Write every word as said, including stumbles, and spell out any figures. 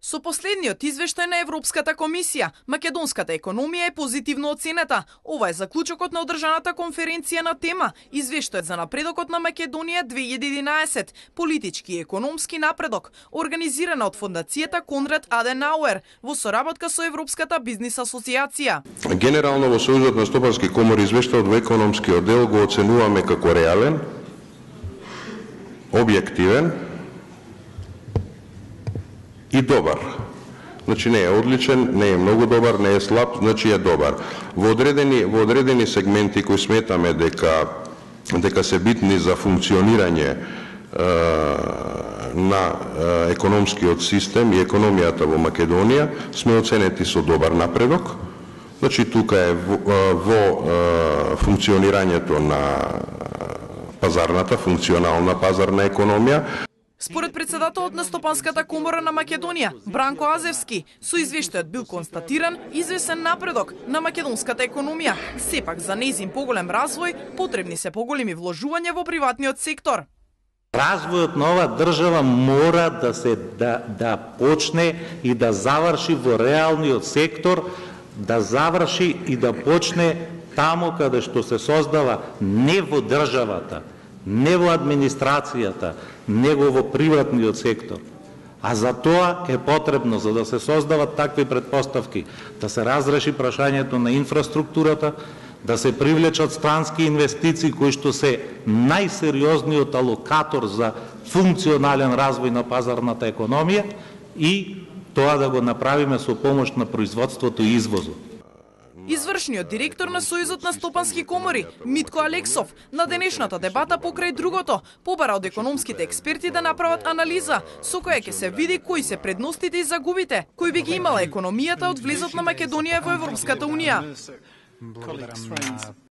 Со последниот извештај на Европската комисија, македонската економија е позитивно оценета. Ова е заклучокот на одржаната конференција на тема Извештајот за напредокот на Македонија две илјади и единаесет, политички и економски напредок, организирана од фондацијата Конрад Аденауер во соработка со Европската бизнис асоциација. Генерално во Сојузот на стопански комори извештајот во економскиот дел го оценуваме како реален, објективен и добар. Значи не е одличен, не е многу добар, не е слаб, значи е добар. Во одредени во одредени сегменти кои сметаме дека дека се битни за функционирање е, на е, економскиот систем и економијата во Македонија, сме оценети со добар напредок. Значи тука е во, во е, функционирањето на пазарната, функционална пазарна економија. Според председателот на Стопанската комора на Македонија, Бранко Азевски, со извештајот бил констатиран извесен напредок на македонската економија. Сепак за нејзин поголем развој потребни се поголеми вложувања во приватниот сектор. Развојот на оваа држава мора да се да, да почне и да заврши во реалниот сектор, да заврши и да почне таму каде што се создава не во државата, не во администрацијата, него во приватниот сектор. А за тоа е потребно, за да се создават такви предпоставки, да се разреши прашањето на инфраструктурата, да се привлечат странски инвестиции кои што се најсериозниот алокатор за функционален развој на пазарната економија и тоа да го направиме со помош на производството и извозот. Извршниот директор на Сојузот на стопански комори, Митко Алексов, на денешната дебата покрај другото, побара од економските експерти да направат анализа со која ќе се види кои се предностите и загубите, кои би ги имала економијата од влезот на Македонија во Европската унија.